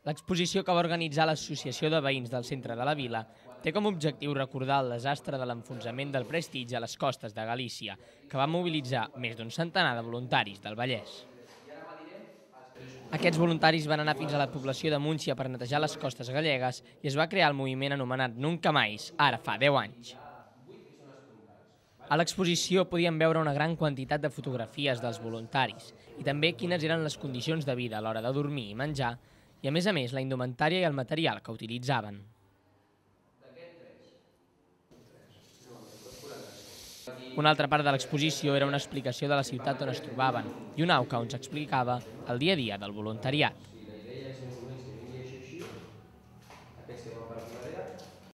L'exposició que va organitzar l'Associació de Veïns del Centre de la Vila té com a objectiu recordar el desastre de l'enfonsament del Prestige a les costes de Galícia, que va mobilitzar més d'un centenar de voluntaris del Vallès. Aquests voluntaris van anar fins a la població de Múncia per netejar les costes gallegues i es va crear el moviment anomenat Nunca Mais, ara fa 10 anys. A l'exposició podíem veure una gran quantitat de fotografies dels voluntaris i també quines eren les condicions de vida a l'hora de dormir i menjar i, a més, la indumentària i el material que utilitzaven. Una altra part de l'exposició era una explicació de la ciutat on es trobaven i una auca on s'explicava el dia a dia del voluntariat.